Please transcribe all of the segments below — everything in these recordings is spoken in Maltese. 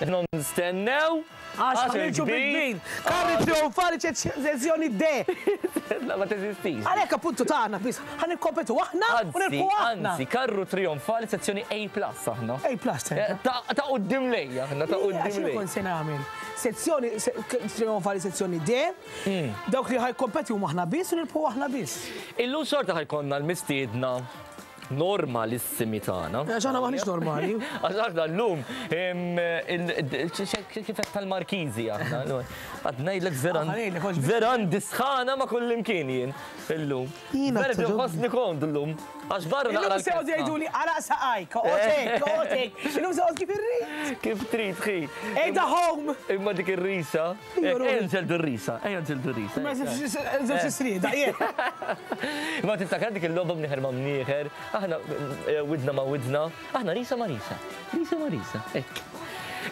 Nistennew. Għax ħa niġu bil-kbir. Karri trionfali sezzjoni D. La ma teżistix. Għalhekk appuntu tagħna biss ħa nikkompetu aħna u nirbħu aħna. Anzi, karru trionfali sezzjoni A plus aħna. A plus. Ta' quddiem lejja aħna, ta' quddiem lejja. Kont se nagħmel. Sezzjoni trionfali sezzjoni D. Dawk li ħa jkompeti huma aħna biss u nirbħu aħna biss. Illum xorta ħa jkollna l-mistiedna normalissimi tagħna. Għax aħna maħniex normali. Għax aħna llum kif qed tal-Markiżi aħna. Għad ngħidlek vera għandi sħana ma' kullimkien jien illum. Vera nħossni komdu llum. Għax barra naqra. Illum se jgħidu jgħiduli għalaq saqajk, oqgħod oqgħod Illum se kif irrid. Kif trid ħi. Ejda home. Imma dik ir-risa. Ejja nġeldu r-risa, ejja nġeldu r-risa. Ma żewġ srieda, Ma tiftakar dik il-logħba mnieħer ma' mnieħer, aħna eh, widna ma' widna, aħna risa ma' risa, risa ma' risa, hekk.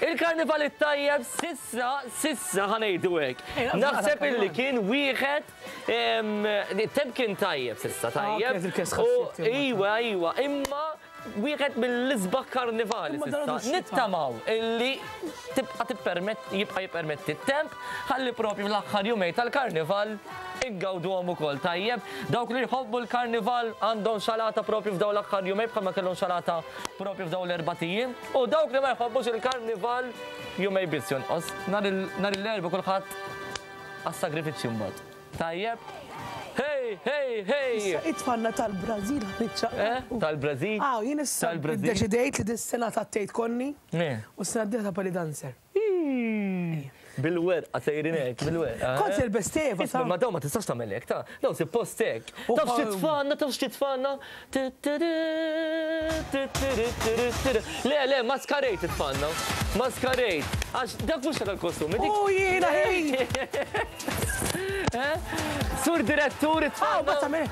Il-karnival it-tajjeb sissa, sissa ħa ngħidu hekk. Naħseb illi kien wieħed temp kien tajjeb sissa ah, tajjeb. Iwa, iwa, imma Wieħed mill-isbaħ karnivali s'issa. Nittamaw illi tibqa' tippermett jibqa' jippermetti t-temp ħalli propju fl-aħħar jumej tal-karnival ingawduhom ukoll tajjeb. Dawk li jħobbu l-karnival għandhom xalata propju f'dawn l-aħħar jumej bħalma kellhom xalata propju f'dawn l-erbat ijiem. U dawk li ma jħobbux il-karnival jumej biss jonqos. Nhar l-Erbgħa kulħadd għas-sagrifiċċju mbagħad. Tajjeb. Hey, hey, hey! Issa it-tfalna tal-Brażil ħniċċaq. Eh, tal-Brażil? Ah, jien issa ddeċidejt li dis-sena tattejt konni u s-sena d-dieħla ta' belly dancer. Bil-werqa sejrin hekk, bil-werqa. Kont se nilbes teva. Isma' ma dawn ma tistax tagħmel hekk, ta' dawn suppost hekk. Taf xi tfanna, taf xi tfanna. Le, le, maskarejt titfanna. Maskarejt. Għax dak mhux tal-kostumi. U jiena ħin! Eh? Sur direttur it-tfanna. Ma tagħmel.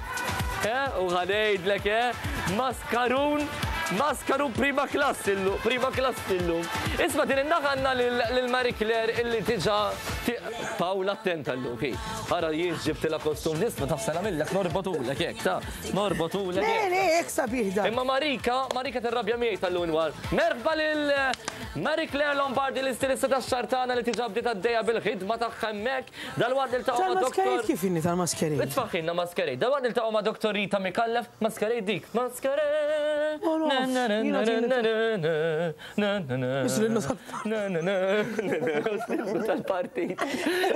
Eh, u ħanejdlek, eh? Maskarun, maskarun prima klassi illum, prima klassi illum. Isma' din in-naħa għandna lil Marie Claire illi diġà Paola attenta llum, hi. Ara jien ġibtilha kostum nisma' taf se nagħmillek norbotulek hekk, ta' norbotulek. Le, le, hekk sabiħ dan. Imma Marika, Marika tirrabja miegħi tal-lum inwar. Merħba lil Marie Claire Lombardi l-istilista tax-xahar tagħna li diġà bdiet għaddejja bil-ħidma tagħha hemmhekk. Dalwaqt niltaqgħu ma' Doktor. Tal-masquerade kif inhi tal-masquerade? Itfaħħilna masquerade. Dalwaqt niltaqgħu ma' Doktor Rita Micallef, masquerade dik. Masquerade. Tal-partit.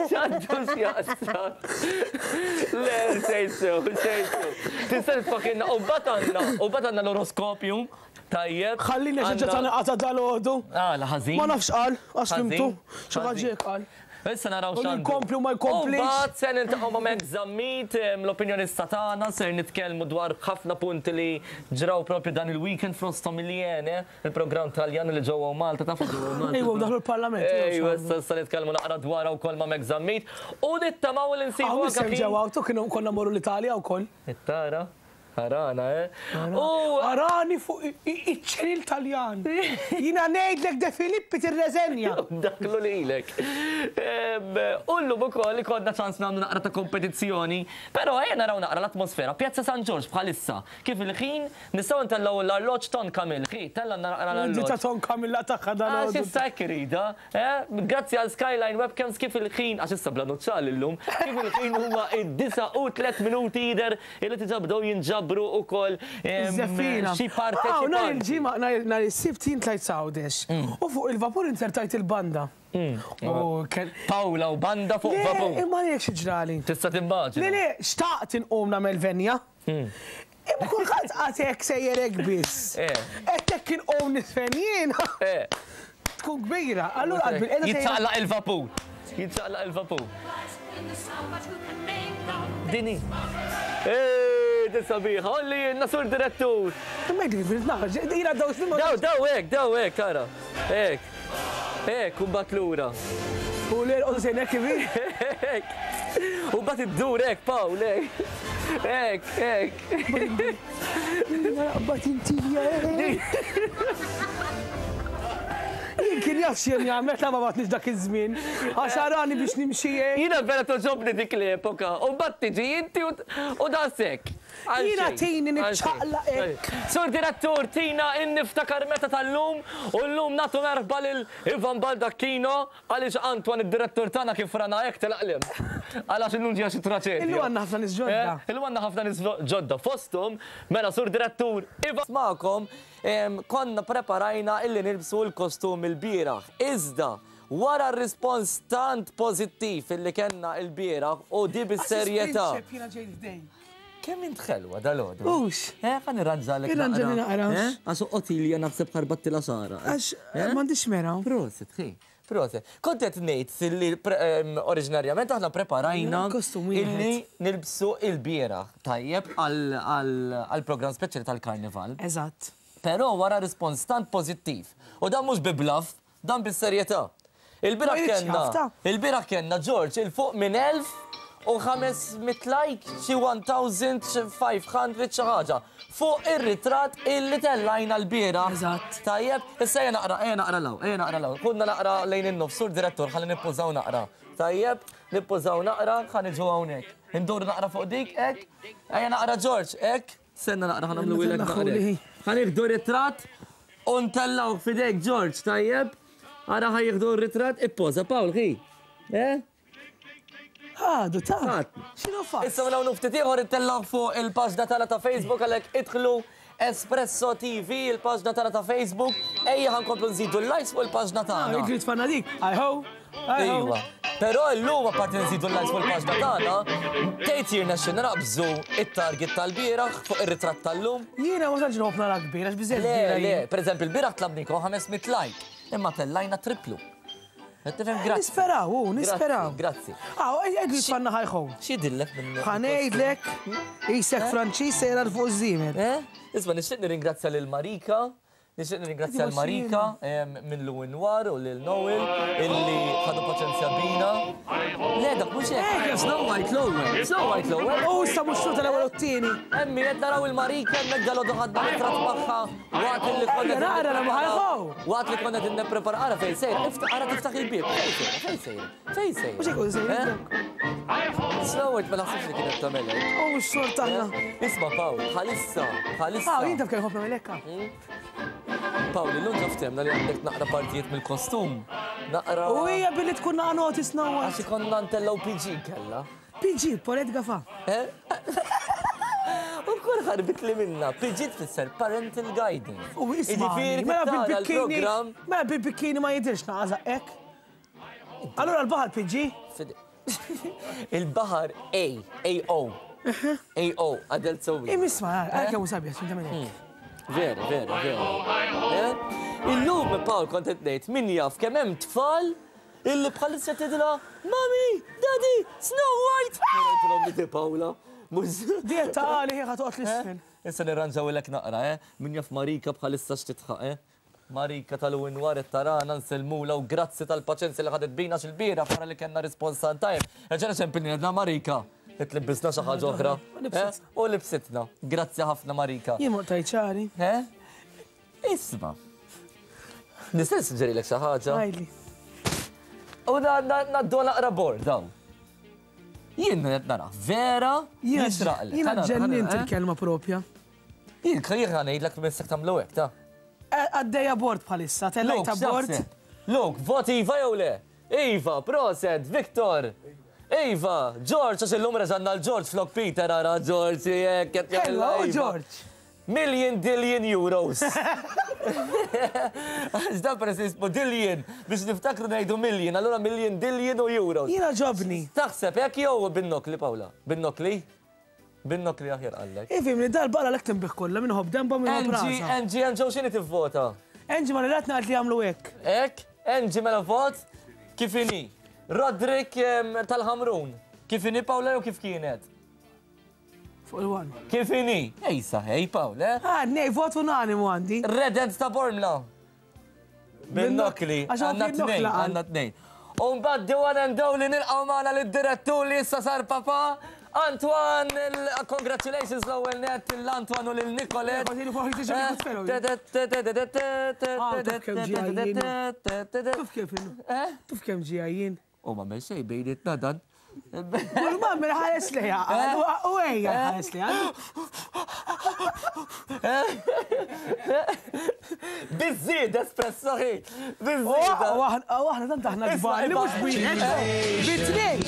X'għandu x'jaqsam. Le, xejn sew, xejn sew. Tista' titfaħħilna u mbagħad għandna, u mbagħad għandna l-oroskopju. Tajjeb. Ħallini għax ġa tani qatgħa dalgħodu. Għala ħażin. Ma nafx qal, għax fimtu. Xi ħaġa hekk qal. Issa naraw x'għandu. Jkompli u ma jkomplix. U mbagħad se niltaqgħu ma' Max Zammit, l-opinjonista tagħna, ser nitkellmu dwar ħafna punti li ġraw propju dan il-weekend fosthom il-Iene, il-programm Taljan li ġew hawn Malta, tafu ġew hawn Malta. Ejwa, daħlu l-Parlament. Ejwa, issa issa nitkellmu naqra dwarha wkoll ma' Max Zammit. U nittamaw li nsibu anke. Hawn ġew hawn, tu kienu konna mmorru l-Italja wkoll. Tara. Arana, eh? U arani fuq iċ-ċenil Taljan. Jiena ngħidlek De Filippi tirreżenja. Daklu lilek. U llum ukoll ikollna ċans nagħmlu naqra ta' kompetizzjoni. Però ejja naraw naqra l-atmosfera. Pjazza San Ġorġ bħalissa. Kif il-ħin nistgħu ntellgħu l-arloġġ Ton Camille. Ħi, tella' naqra l-arloġġ. Di ta' Ton Camille tagħha dan. Għax issa hekk iridha. Eh? Grazzi għal Skyline Webcams kif il-ħin, għax issa bla nuċċali llum, kif il-ħin huma id-9 u 3 minuti jidher Illi diġà bdew jinġabru wkoll xi parteċipanti. Nhar il-Ġimgħa, nhar is-Sibt jien tlajt Għawdex u fuq il-vapur inzertajt il-banda. Pawla u banda fuq vapur. Le, imma ngħidlek xi ġrali. Tista' timmaġina. Le, le, xtaqt inqum nagħmel venja. Imma kulħadd qagħad hekk sejjer hekk biss. Għedt hekk inqum niżfen jiena. Tkun kbira, allura qalbi l-qiegħda. Jiċċaqlaq il-vapur. Jiċċaqlaq il-vapur. Dini. Ej, din sabiħa, olli jenna sur direttur. Imma jdik fil-naħġ, jina daw snin. Daw, daw, ek, daw, ek, tara. Ek. Ek, u bat lura. U l-erqodu sejn ek kif? Ek. U bat id-dur ek, Pawl, ek. Ek, ek. Naqbad intija. Jien kien jaf x'jien jagħmel ta' ma batnix dak iż-żmien. Għax arani biex nimxi hekk. Jiena vera togħġobni dik l-epoka. U mbagħad tiġi inti u daqshekk. Jiena tini niċċaqlaq hekk. Sur Direttur, tina in-niftakar meta tal-lum u llum nagħtu merħba lil Ivan Baldacchino għaliex Antoine id-direttur tagħna kif rana hekk telaq 'l hemm. Għal għax illum ġejja xi traċedja. Illum għandna ħafna nies ġodda. Illum għandna ħafna nies ġodda fosthom mela Sur Direttur Ivan. Magħkom konna preparajna illi nilbsu l-kostum ilbieraħ. Iżda Wara r-rispons tant pożittiv illi kellna ilbieraħ u di bis-serjetà. Għax jiena ġejt f'dejk. Kemm int ħelwa dalgħodu. Hux. Eh, ħa nirranġalek naqra. Irranġali naqra. Eh, għax Otilja naħseb ħarbattilha xagħarha. Għax m'għandix mera. Prosit, ħi. Prosit. Kont qed ngħid li oriġinarjament aħna preparajna illi nilbsu ilbieraħ tajjeb għall-programm speċjali tal-Karnival. Eżatt. Però wara rispons tant pożittiv, u dan mhux bi bluff, Dan bis-serjetà. Il-bieraħ kellna, il-bieraħ kellna George 'il fuq minn 1500 like, xi 1500 xi ħaġa, fuq ir-ritratt illi tellajna l-bieraħ. Eżatt. Tajjeb, issa ejja naqra, ejja naqra 'l hawn, ejja naqra 'l hawn. Ħudna naqra lejn in-nofs, sur direttur, ħalli nippużaw naqra. Tajjeb, nippużaw naqra, ħa niġu hawnhekk. Induru naqra fuq dik, hekk. Ejja naqra George, hekk. Stenna naqra ħa nagħmlu naqra. Ħa nieħdu ritratt u ntellgħuh f'idejk George, tajjeb? Ara ħa jieħdu r-ritratt, ippoża Paul, ħi. Eh? Ħadu ta' x'inhu fatt? Issa minn hawn u ftit ieħor ittellgħuh fuq il-paġna tagħna ta' Facebook għalhekk idħlu Espresso TV, il-paġna tagħna ta' Facebook. Ejja ħa nkomplu nżidu l-likes fuq il-paġna tagħna. Jidri tfanna dik. Hi ho. Iva. Però llum apparti nżidu l-likes fuq il-paġna tagħna, tgħid jirnexxilna naqbżu it-target tal-bieraħ fuq ir-ritratt tal-lum? Jiena ma tantx nħobb nara kbir għax biżejjed Le, le, pereżempju l-bieraħ tlabnikom 500 like, imma tellajna triplu. Qed tifhem grazzi. Nisperaw, u nisperaw. Grazzi. Aw, għedli tfanna ħajħu. X'jidillek minn. Ħa ngħidlek, isek Franċiż sejra 'l fuq iż-żiemel. Eh? Isma' nixtieq nirringrazzja lil Marika Nixtieq nirringrazzja l Marika minn Lou Noir u lil Noel illi ħadu paċenzja bina. Le dak mhux hekk. Snow White l-ewwel. Snow White l-ewwel. U issa mhux xorta l-ewwel u t-tieni. Emmi qed naraw il-Marika hemmhekk dalgħodu ħadna ritratt magħha waqt illi konna. Nara la ħajħow. Waqt li konna qed nipprepara ara fejn sejra, ara tiftaħ il-bieb. Fejn sejra, fejn sejra, fejn sejra. Mhux hekk sejra. Snow White ma naħsibx li kienet tagħmel hekk. U mhux xorta aħna. Isma' Pawl, bħalissa, bħalissa. Ah, jien taf kemm ħobb nagħmel hekk. Pawl, illum ġa ftehmna li għandek naqra partijiet mill-kostum. Naqra. U hija billi tkun naqa' noti Snow White. Għax ikollna ntellgħu PG kella. PG, Paulette Gafa. Eh? U kol ħarbit li minna. PG tfisser Parental Guidance. U isma' mela bil-bikini. Mela bil-bikini ma jidirx naqa' żaqqek. Allura l-baħar PG? Il-baħar A, A-O. A-O, adult so Imisma, għal kemm sabiħ, xinta minn hekk. Vera, vera, vera. Eh? Illum, Paul, kont qed ngħid, min jaf kemm hemm tfal illi bħalissa tidla, Mami, Daddy, Snow White! Ngħidilhom li Paola. Diet ta' għali ħa toqgħod l-isfel. Eh? Issa nirranġawilek naqra, eh? Min jaf Marika bħalissa x'titħaq, eh? Marika tal-Winwar qed tarana nsellmulha u grazzi tal-paċenzja li ħadet bina għax ilbieraħ wara li kellna rispons tant tajjeb, reġgħna ċempilni għedna Marika qed tlibbisna xi ħaġa oħra. U libsitna. Grazzi ħafna Marika. Jien ma qtajt xagħri. Eh? Isma'. Nista' nissuġġerilek xi ħaġa? Għidli. U ngħaddu naqra bord hawn. Jien qed nara vera jixraqlek. Jiena ġennint il-kelma propja. Jien jien ngħidlek missek tagħmlu hekk ta. Għaddejja bord bħalissa, tellajt bord. Luke, vot iva jew le? Iva, proset, Victor. Iva, George, għax illum reġanna l-George flok Peter ara George, jekk qed Hello, George. Million dillion euros. Għax dan peress li jismu dillion biex niftakru ngħidu million, allura million dillion u euros. Jiena ġobni. Taħseb hekk jew bin-nokli Paula? Bin-nokli? Bin-nokli aħjar qallek. Ifhimni, dal-baqra lek tinbih kollha, min iħobb denba u min iħobb Angie, rasha. Angie, Angie, x'inhi tivvota? Angie ma rilatna qalt li jagħmlu hekk. Hekk? Angie mela vot kif inhi. Roderick tal-Ħamrun. Kif inhi Paola jew kif kienet? Fuq il-one. Kif inhi? Ejsa, ej Paola. Eh? Ah, nej, vot unanimu għandi. Redent ta' Bormla. Bin-nokli, għandna tnejn, għandna tnejn. U mbagħad the one and only nilqgħu magħna lid-direttur li issa sar papa, Antoine, congratulations l-ewwel nett lil Antoine u lil Nicolette. Tuf kemm ġejjin. U ma xejn bejnietna dan. Kull ma mela ħares lejha, u ejja ħares lejha. Biżżied espresso ħi. Biżżied. U aħna tant aħna kbar li mhux wieħed, bit-tnejn.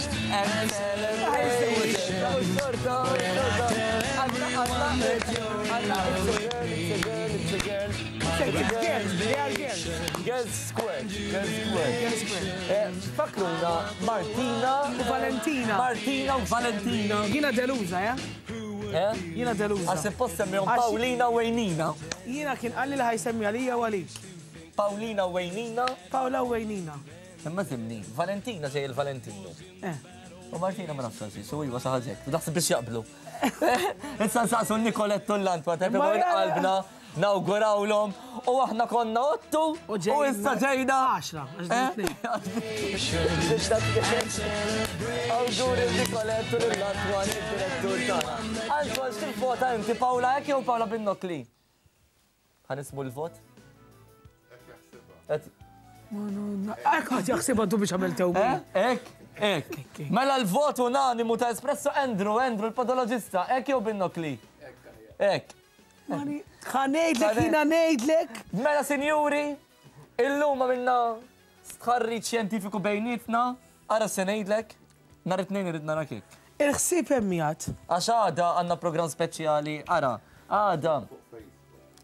Girls Square. Girls Square. Fakruna Martina u Valentina. Martina u Valentina. Jiena deluża, ja? Eh? Jiena deluża. Għax suppost semmihom Paulina u Wejnina. Jiena kien qalli li ħajsemmi għalija u għalik. Paulina u Wejnina. Paula u Wejnina. Imma zimni, Valentina ġej il-Valentino. Eh. U Martina ma nafx għaxi, su iva xi ħaġa hekk. Naħseb biex jaqblu. Issa nsaqsu Nicoletto l-Antwa, qalbna. Nawgurawlhom u aħna konna ottu u issa ġejna. Għaxra, Awguri Nicoletto lill-Antoine, id-direttur tagħna. Antoine, x'tivvota inti Paola hekk jew Paola bin-Nokli? Ħa nismu l-vot? Hekk ħadd jaħsibha tu biex għamel tewmi. Hekk, hekk. Mela l-vot unanimu ta' Espresso Andrew, Andrew l-podoloġista, hekk jew bin-Nokli? Hekk. Ħa ngħidlek jiena ngħidlek. Mela sinjuri, illum għamilna stħarriġ xjentifiku bejnietna, ara se ngħidlek, nhar it-Tnejn irrid narak hekk. Il-ħsieb hemm qiegħed. Għax għada għandna programm speċjali, ara, għada.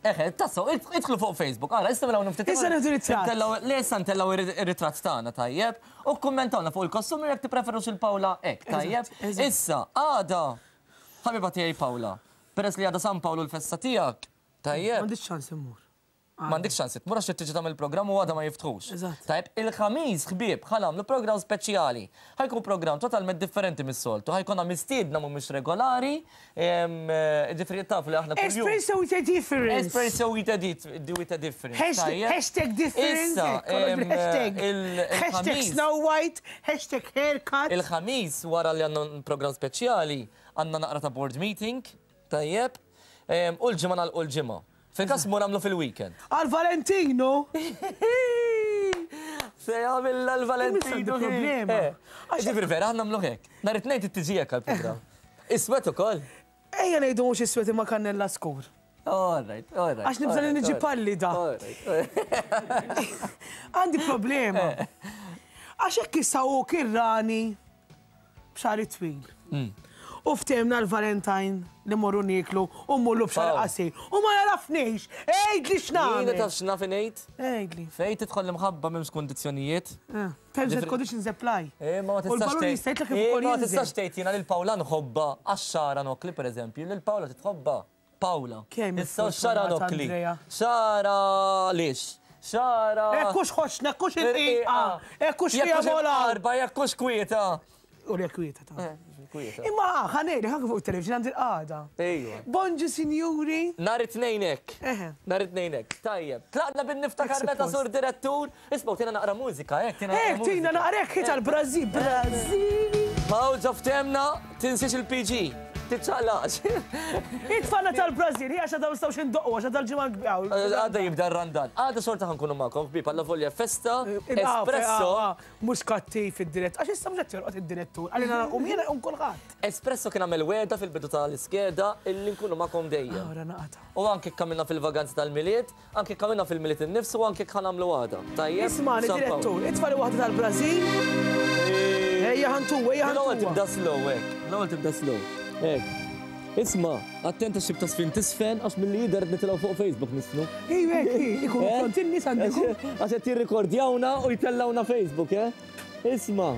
Eħe, tassew, idħlu fuq Facebook, ara, issa mela ftit. Issa nieħdu ritratt. Le, issa ntellgħu ir-ritratt tagħna, tajjeb, u kkummentawna fuq il-kostumi jekk tippreferux il-Paola hekk, tajjeb. Issa, għada, ħabiba tiegħi Paola, Peress li għada San Pawl u l-festa tiegħek, tajjeb. M'għandix ċans immur. M'għandikx ċans tmur għax trid tiġi tagħmel il-programm u għada ma jiftħux. Eżatt. Tajjeb, il-Ħamis, ħbieb, ħa nagħmlu programm speċjali. Ħa jkun programm totalment differenti mis-soltu. Ħa jkollna mistiedna mhumiex regolari, jiġifieri tafu li aħna kuljum. Espresso with a difference. Espresso with a with a difference. Tajjeb? Hashtag difference. Issa, Hashtag. Hashtag Snow White, hashtag haircut. Il-Ħamis wara li għandna programm speċjali, Għandna naqra ta' board meeting, tajjeb, u l-ġimgħa nagħlqu l-ġimgħa. Fil-każ mmur nagħmlu fil-weekend. Għal Valentino! Se jagħmilha l-Valentino. Problema. Ġifieri vera aħna nagħmlu hekk. Nhar it-Tnejn trid tiġi hekk għall-programm. Iswed ukoll. Ejja ngħidu mhux iswed imma kannella skur. All right, all right. Għax nibża li niġi pallida. Għandi problema. Għax hekk issa hu kirrani b'xagħri twil. U ftehimna l-Valentine li morru nieklu u mmurlu b'xagħri qasir. U ma jagħrafnix! Għidli x'nagħmel! Jiena taf x'naf ingħid? Għidli. Fejn tidħol l-imħabba m'hemmx kundizzjonijiet. Terms and conditions apply. Eh, ma tistax. U l-balun jista' jitlaq kif ukoll Ma tistax tgħid jiena lil Paola nħobbha għax xagħarha nokkli pereżempju, lil Paola titħobbha. Paola. Kemm Issa xara nokkli. Xara lix. Xara. Ekkux ħoxna, ekkux irqiqa, ekkux fiha mola. Arba, jekkux kwieta. U li kwieta ta'. Eh, kwieta. Imma ħanejli ħanka fuq il-television għandi l-qagħda. Ejwa. Bonġu sinjuri. Nhar it-tnejn hekk. Nhar it-tnejn hekk. Tajjeb. Tlaqna bin-niftakar meta sur direttur. Isma' tina naqra mużika, hekk tina. Hekk tina naqra hekk tal-Brażil, Brażil. Pawl ġo ftemna, tinsiex il-PG. Tiċċaqlaqx. Itfana tal-Brażil, hija x'għadha nistgħux indoqqu għax għadha l-ġimgħa l-kbira. Għadha jibda r-Randan. Għada xorta ħankunu magħkom ħbieb alla volja festa, espresso. Mhux kattiv id-dirett, għax issa mhux qed jorqod id-direttur, għalina nqum jiena jqum kulħadd. Espresso kien għamel wegħda fil-bidu tal-iskeda illi nkunu magħkom dejjem. Ora naqata'. U anke jekk għamilna fil-vaganzi tal-Milied, Anke jekk għamilna fil-Milied innifsu u anke jekk ħa nagħmlu għada. Tajjeb? Ismagħni direttur, itfali waħda tal-Brażil. Ejja ħantu, ejja ħantu. L-ewwel tibda slow hekk. L-ewwel tibda slow. Hekk. Isma', attent għax xibta sfin tisfen għax milli jidher qed nitilgħu fuq Facebook nisfnu. Ejja hekk, ikunu Eh? front in-nies għandikom. Għax qed jirrikordjawna u jtellgħuna Facebook, eh? Isma',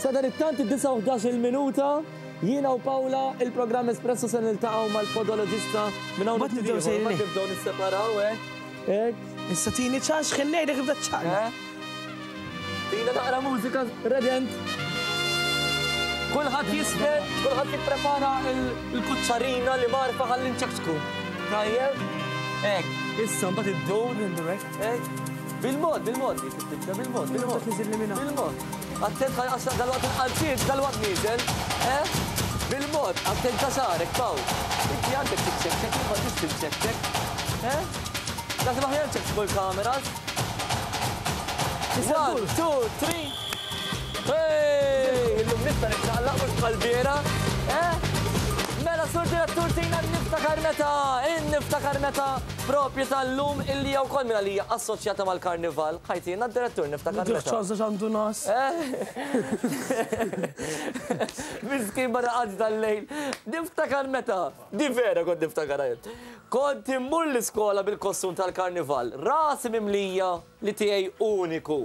sadanittant id-disgħa u ħdax-il minuta, jiena u Paola, il-programm Espresso se niltaqgħu mal-podoloġista minn hawn Mbagħad nibdew sejrin. Mbagħad nibdew nisseparaw, eh? Hekk. Issa tini ċans x'ħin ngħidlek ibda ċċaqlaq. Eh? Tina naqra mużika redent. Kulħadd jisfer, kulħadd jipprepara il-kuċċarina li marfa ħalli nċekċku. Tajjeb? Hekk, issa mbagħad iddur. Hekk. Bil-mod, bil-mod, tibda bil-mod, bil-mod. Bil-mod. Attent għax dal-waqt il-qalziet, dal-waqt nieżel. Eh? Bil-mod, attent ta' xagħrek, Pawl. Inti għandek tiċċekċek, ma tix tiċċekċek. Eh? Naħseb aħjar ċekċku l-kameras. One, two, three. Hey! Illum. Nista' niċċaqlaq mhux bħal biera. Eh? Mela sur direttur tina niftakar meta, niftakar meta propju tal-lum illi jew kol minn għalija assoċjata mal-karnival. Ħajtina d-direttur niftakar meta. ċansa x'għandu nas. Eh? Miskin ma raqadx dal-lejl. Niftakar meta. Di vera kont niftakar jien. Kont immur l-iskola bil-kostum tal-karnival, rasi mimlija li tiegħi uniku.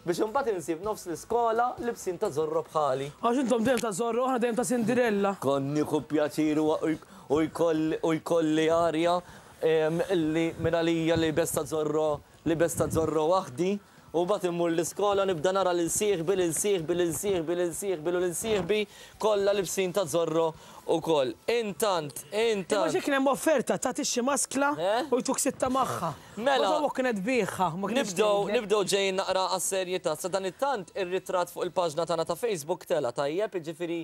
Biex imbagħad insib nofs l-iskola libsin ta' Zorro bħali. Għax intom dejjem ta' Zorro, aħna dejjem ta' Cinderella. Kont nieħu pjaċir u jkolli arja li minn għalija libes ta' Zorro, libes ta' Zorro waħdi. U mbagħad immur l-iskola nibda nara lil sieħbi, lil sieħbi, lil sieħbi, lil sieħbi u lil sieħbi kollha libsin ta' Zorro ukoll. Intant, intant. Imma xi kien hemm offerta tagħti xi maskla u jtuk sitta magħha. Mela. Meta ommok kienet tbigħha, ma kienx Nibdew, tgħidlek. nibdew ġejjin naqra għas-serjetà. Sadanittant ir-ritratt fuq il-paġna tagħna ta' Facebook tela' tajjeb, jiġifieri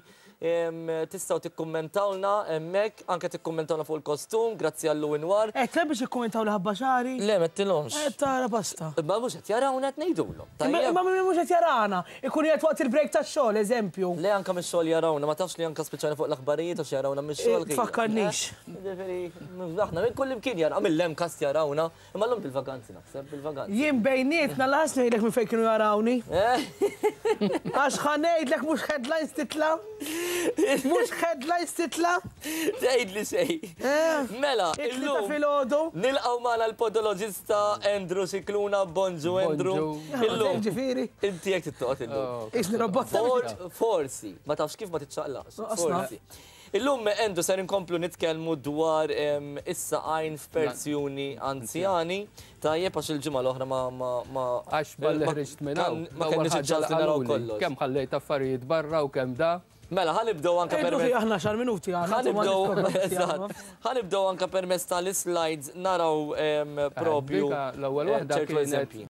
tistgħu tikkummentawlna hemmhekk, anke tikkummentawlna fuq il-kostum, grazzi għal Lou Inwar. Għedtlek biex jikkummentawli ħabba xagħri? Le, m'għedtilhomx. Qed tara basta. Imma mhux qed jarawna qed ngħidulhom. Tajjeb? Imma min mhux qed jarana, ikun qiegħed waqt il-break tax-xogħol, eżempju. Le anke mix-xogħol jarawna, ma tafx li anke spiċċajna fuq l-aħbarijiet għax jarawna mix-xogħol. Tfakkarnix. Jiġifieri, aħna minn kullimkien jarawna, mill-MCAST jarawna, imma llum bil-vaganzi naħseb, bil-vaganzi. Jien bejnietna lanqas ngħidlek minn fejn kienu jarawni. Għax ħa ngħidlek mhux headlines titla'. Mhux headlines titla'. Tgħidli xejn. Mela, illum. Filgħodu. Nilqgħu magħna l-podoloġista Andrew Scicluna. Bonġu Andrew. Illum. Ġifieri. Inti jekk tittoqgħod illum. Isni robot. Forsi, ma tafx kif ma tiċċaqlaqx. Forsi. Illum Andrew ser inkomplu nitkellmu dwar is-saqajn f'persuni anzjani. Tajjeb għax il-ġimgħa l-oħra ma ma Għax malli ħriġt minn hawn. Ma kenniex iċ-ċans li naraw kollox. Kemm ħallejt affarijiet barra u kemm da. Mela, ħa nibdew anke permezz. Aħna xar minuti għandna. Ħa nibdew, eżatt. Ħa nibdew anke permezz tal-islides naraw propju. L-ewwel waħda ċertu eżempji.